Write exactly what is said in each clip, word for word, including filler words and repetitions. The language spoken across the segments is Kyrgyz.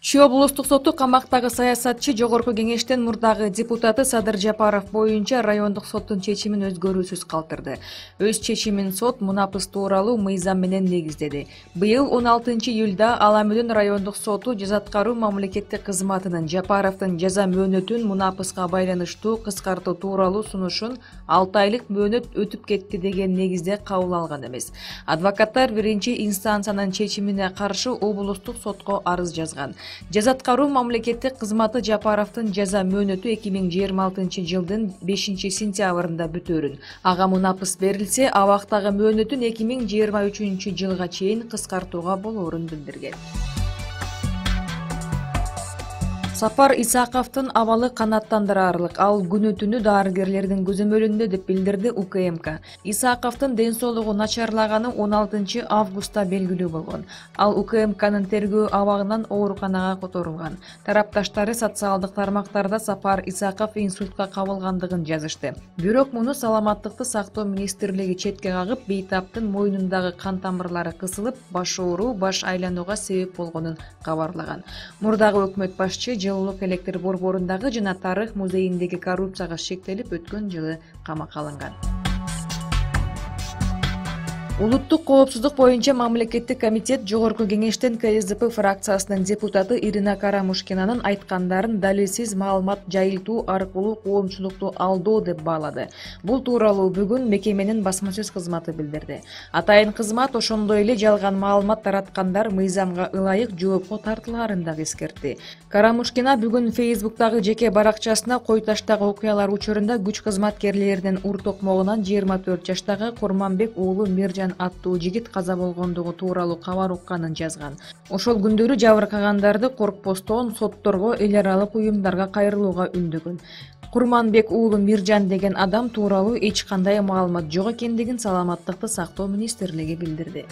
Чүй облустук соту камактагы саясатчы Жогорку кеңештин мурдагы депутаты Садыр Жапаров боюнча райондук соттун чечимин өзгөрүүсүз калтырды. Өз чечимин сот мунапыс тууралуу мыйзам менен негиздеди. Быйыл он алтынчы июлда Ала Мөдөн райондук соту жаза аткаруу мамлекеттик кызматынын Жапаровдун жаза мөөнөтүн мунапыска байланыштуу кыскартуу тууралуу сунушун алты айлык мөөнөт өтүп кетти деген негизде кабыл алган эмес. Адвокаттар биринчи инстанциянын чечимине каршы облустук сотко арыз жазган. Жаза аткаруу мамлекеттик кызматы Жапаровдун жаза мөөнөтү эки миң жыйырма алтынчы жылдын бешинчи сентябрында бүтөөрүн. Ага мунапыс берилсе, абактагы мөөнөтүн эки миң жыйырма үчүнчү жылга чейин кыскартууга болоорун билдирген. Сапар Исаковдун абалы канааттандырарлык. Ал күнү түнү дарыгерлердин көзөмөлүндө деп билдирди У К М К. Исаковдун ден соолугу начарлаганы он алтынчы августта белгилүү болгон. Ал У К М Кнын тергөө абагынан ооруканага которулган. Тарапташтары социалдык тармактарда Сапар Исаков инсультка кабылгандыгын жазышты. Бирок муну саламаттыкты сактоо министрлиги четке кагып, бейтаптын мойнундагы кан тамырлары кысылып, баш ооруу, баш айланууга себеп болгонун кабарлаган. Мурдагы өкмөт башчы жылуулук электр борборундагы жана тарых музейиндеги коррупцияга шектелип өткөн жылы камакка алынган. Улуттук коопсуздук боюнча мамлекеттик комитет Жогорку кеңештин К С D P фракциясынын депутаты Ирина Карамушкинанын айткандарын далилсиз маалымат жайылтуу аркылуу коомчулукту алдоо деп баалады. Бул тууралуу бүгүн мекеменин басма сөз кызматы билдирди. Атайын кызмат ошондой эле жалган маалымат тараткандар мыйзамга ылайык жоопко тартылаарын дагы эскертти. Карамушкина бүгүн Фейсбуктагы жеке баракчасына кой таштагы окуялар учурунда күч кызматкерлеринин ур токмогунан жыйырма төрт жаштагы Курманбек уулу Миржан аттуу жигит каза болгондугу тууралуу кабар укканын жазган. Ошол күндөрү жабыркагандарды коркпостон сотторго, эл аралык уюмдарга кайрылууга үндөгөн. Курманбек уулу Миржан деген адам тууралуу эч кандай маалымат жок экендигин Саламаттыкты сактоо министрлиги билдирди.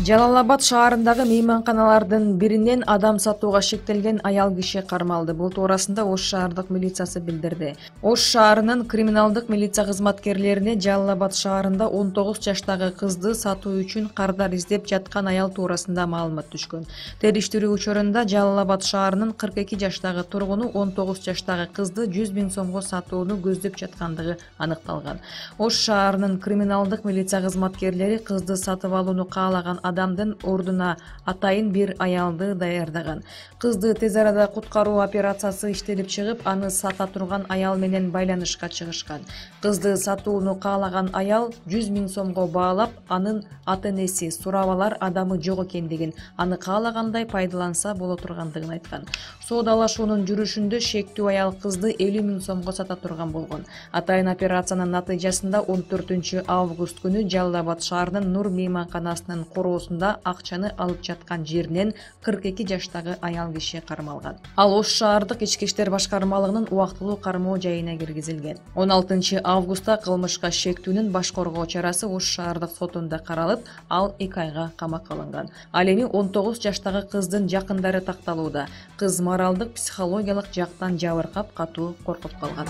Жалал-Абад шаарындагы мейманканалардын биринен адам сатууга шектелген аял киши кармалды. Бул туурасында Ош шаардык милициясы билдирди. Ош шаарынын криминалдык милиция кызматкерлерине Жалал-Абад шаарында он тогуз жаштагы кызды сатуу үчүн кардар издеп жаткан аял туурасында маалымат түшкөн. Териштирүү учурунда Жалал-Абад шаарынын кырк эки жаштагы тургуну он тогуз жаштагы кызды жүз миң сомго сатууну көздөп жаткандыгы аныкталган. Ош шаарынын криминалдык милиция кызматкерлери кызды сатып алууну каалаган адамдын ордуна атайын бир аялды даярдаган. Кызды тез арада куткаруу операциясы иштелип чыгып, аны сата турган аял менен байланышка чыгышкан. Кызды сатууну каалаган аял жүз миң сомго баалап, анын ата-энеси сурап алар адамы жок экендигин, аны каалагандай пайдаланса боло тургандыгын айткан. Соодалашуунун жүрүшүндө шектүү аял кызды элүү миң сомго сата турган болгон. Атайын операциянын натыйжасында он төртүнчү август күнү Жалал-Абад шаарынын Нур мейманканасынын короосунда акчаны алып жаткан жеринен кырк эки жаштагы аял киши кармалган. Ал Ош шаардык ички иштер башкармалыгынын убактылуу кармоо жайына киргизилген. он алтынчы августта кылмышка шектүүнүн баш коргоо чарасы Ош шаардык сотунда каралып, ал эки айга камакка алынган. Ал эми он тогуз жаштагы кыздын жакындары такталууда. Кыз моралдык, психологиялык жактан жабыркап, катуу коркуп калган.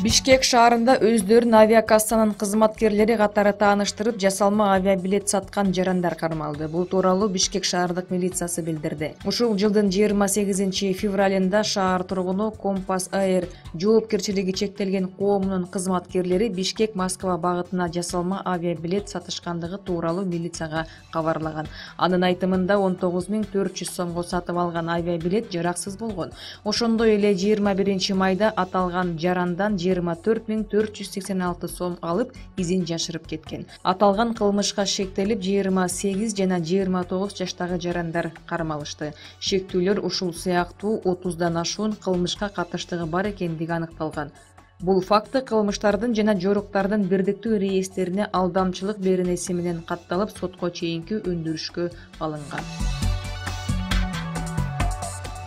Бишкек шаарында өздөрүн авиакассанын кызматкерлери катары тааныштырып, жасалма авиабилет саткан жарандар кармалды. Бул тууралуу Бишкек шаардык милициясы билдирди. Ушул жылдын жыйырма сегизинчи февралында шаар тургуну Компас Air жоопкерчилиги чектелген коомунун кызматкерлери Бишкек Москва багытына жасалма авиабилет сатышкандыгы тууралуу милицияга кабарлаган. Анын айтымында он тогуз миң төрт жүз сомго сатып алган авиабилет жараксыз болгон. Ошондой эле жыйырма биринчи майда аталган жарандан жыйырма төрт миң төрт жүз сексен алты сом алып, изин жашырып кеткен. Аталган кылмышка шектелип, жыйырма сегиз жана жыйырма тогуз жаштагы жарандар кармалышты. Шектүүлөр ушул сыяктуу отуздан ашуун кылмышка катыштыгы бар экендиги аныкталган. Бул факты кылмыштардын жана жоруктардын бирдиктүү реестрине алдамчылык беренеси менен катталып, сотко чейинки өндүрүшкө алынган.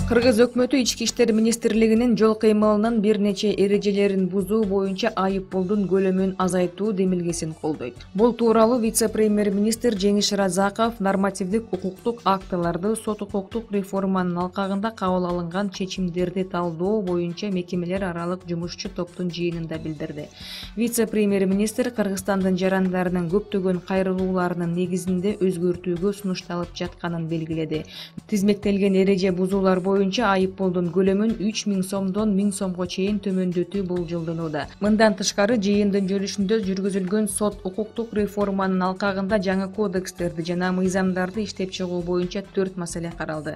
Кыргыз өкмөтү Ички иштер министрлигинин жол кыймылынын бир нече эрежелерин бузуу боюнча айыппулдун көлөмүн азайтуу демилгесин колдойт. Бул тууралуу вице-премьер-министр Жеңиш Разаков нормативдик укуктук актыларды сот укуктук реформанын алкагында кабыл алынган чечимдерди талдоо боюнча мекемелер аралык жумушчу топтун жыйынында билдирди. Вице-премьер-министр Кыргызстандын жарандарынын көптөгөн кайрылууларынын негизинде өзгөртүүгө сунушталып жатканын белгиледи. Тизмектелген эреже бузуулар боюнча айыппулдун көлөмүн үч миң сомдон миң сомго чейин төмөндөтүү болжолдонууда. Мындан тышкары жыйындын жүрүшүндө жүргүзүлгөн сот укуктук реформанын алкагында жаңы кодекстерди жана мыйзамдарды иштеп чыгуу боюнча төрт маселе каралды.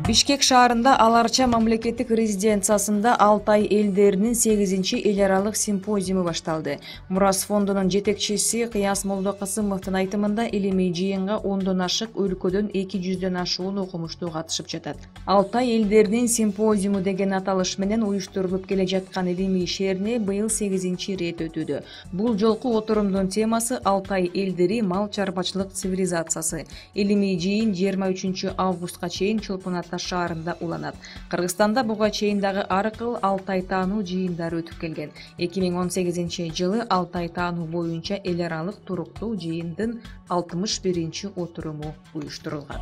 Бишкек шаарында Аларча мамлекеттик резиденциясында Алтай элдеринин сегизинчи эл аралык симпозиуму башталды. Мурас фондунун жетекчиси Кыяс Молдокасымовдун айтымында илимий жыйынга ондон ашык өлкөдөн эки жүздөн ашуун окумуштуу катышып жатат. Алтай элдеринин симпозиуму деген аталыш менен уюштурулуп келе жаткан илимий шерне быйыл сегизинчи ирет өтүүдө. Бул жолку отурумдун темасы Алтай элдери мал чарбачылык цивилизациясы. Илимий жыйын жыйырма үчүнчү августка чейин Чолпон Ата шаарында уланат. Кыргызстанда буга чейин дагы ар кыл Алтай таануу жыйындары өтүп келген. эки миң он сегизинчи жылы Алтай таануу боюнча эл аралык туруктуу жыйындын алтымыш биринчи отуруму уюштурулган.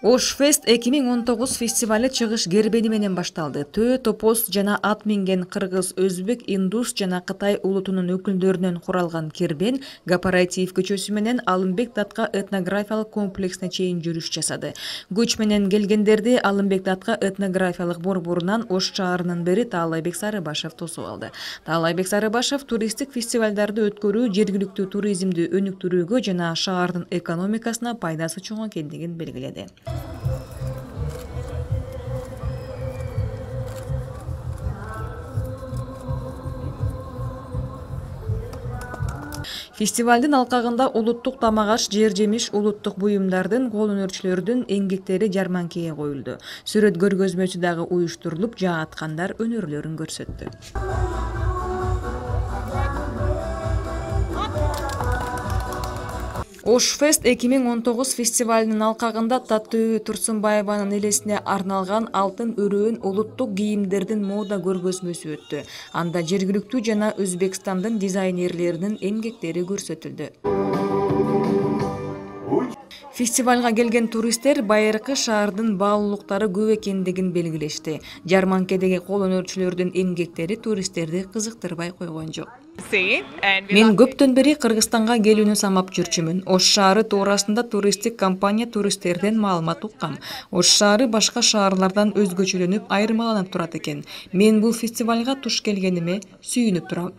Ош Фест эки миң он тогуз фестивалы чыгыш гербени менен башталды. Төө, топоз жана ат минген кыргыз, өзбек, индус жана кытай улутунун өкүлдөрүнөн куралган кербен Кооператив көчөсү менен Алымбек Датка этнографиялык комплексине чейин жүрүш жасады. Көч менен келгендерди Алымбек Датка этнографиялык борборунан Ош шаарынын бири Таалайбек Сарыбашев тосуп алды. Таалайбек Сарыбашев туристтик фестивалдарды өткөрүү жергиликтүү туризмди өнүктүрүүгө жана шаардын экономикасына пайдасы чоң экендигин белгиледи. Фестивалдын алкагында улуттук тамак-аш, жер-жемиш, улуттук буюмдардын, кол өнөрчүлөрдүн эмгектери жарманкеге коюлду. Сүрөт көргөзмөсү дагы уюштурулуп, жааткандар өнөрлөрүн көрсөттү. Ош Фест эки миң он тогуз фестивалынын алкагында Таттуу Турсунбаеванын элесине арналган алтын өрөөн улуттук кийимдердин мода көргөзмөсү өттү. Анда жергиликтүү жана Өзбекстандын дизайнерлеринин эмгектери көрсөтүлдү. Фестивалга келген туристтер байыркы шаардын баалуулуктары көп экендигин белгилешти. Жарманкедеги кол өнөрчүлөрдүн эмгектери туристтерди кызыктырбай койгон жок. Мен көптөн бери Кыргызстанга келүүнү самап жүрчүмүн. Ош шаары туурасында туристтик компания туристтерден маалымат уккам. Ош шаары башка шаарлардан өзгөчөлөнүп, айырмаланып турат экен. Мен бул фестивалга туш келгениме сүйүнүп турам.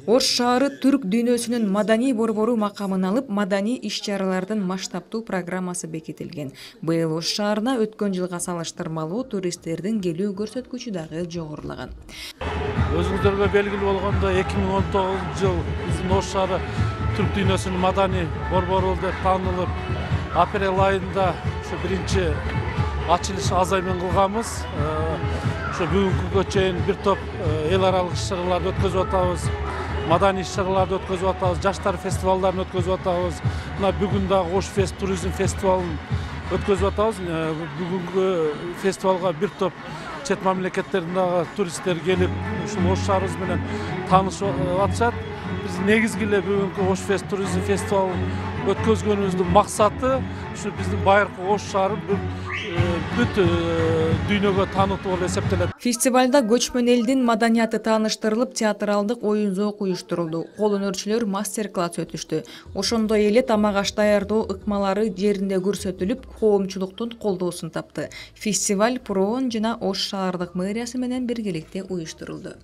Ош шаары түрк дүйнөсүнүн маданий борбору макамын алып, маданий иш-чаралардын масштабтуу программасы бекитилген. Быйыл Ош шаарына өткөн жылга салыштырмалуу туристтердин келүү көрсөткүчү дагы жогорулаган. Өзүңүздөргө белгилүү болгондой эки миң он тогузунчу жыл биздин Ош шаары түрк дүйнөсүнүн маданий борбору деп таанылып, апрель айында ушу биринчи ачылыш азаймен кылганбыз. Ошо бүгүнкүгө чейин бир топ эл аралык иш-чараларды өткөзүп атабыз. Маданий иш-чараларды өткөзүп атабыз, жаштар фестивалдарын өткөзүп атабыз. Мына бүгүн дагы Ош Фест туризм фестивалын өткөзүп атабыз. Бүгүнкү фестивалга бир топ чет мамлекеттерден дагы туристтер келип, ушул Ош шаарыбыз менен таанышып атышат. Биз негизги эле бүгүнкү Ош Фест туризм фестивалын өткөзгөнүбүздүн максаты ушу биздин байыркы Ош шаарын бүт дүйнөгө таанытуу болуп эсептелет. Фестивалда көчмөн элдин маданияты тааныштырылып, театралдык оюн-зоок уюштурулду. Кол өнөрчүлөр мастер-класс өтүштү. Ошондой эле тамак-аш даярдоо ыкмалары жеринде көрсөтүлүп, коомчулуктун колдоосун тапты. Фестиваль Проон жана Ош шаардык мэриясы менен биргеликте уюштурулду.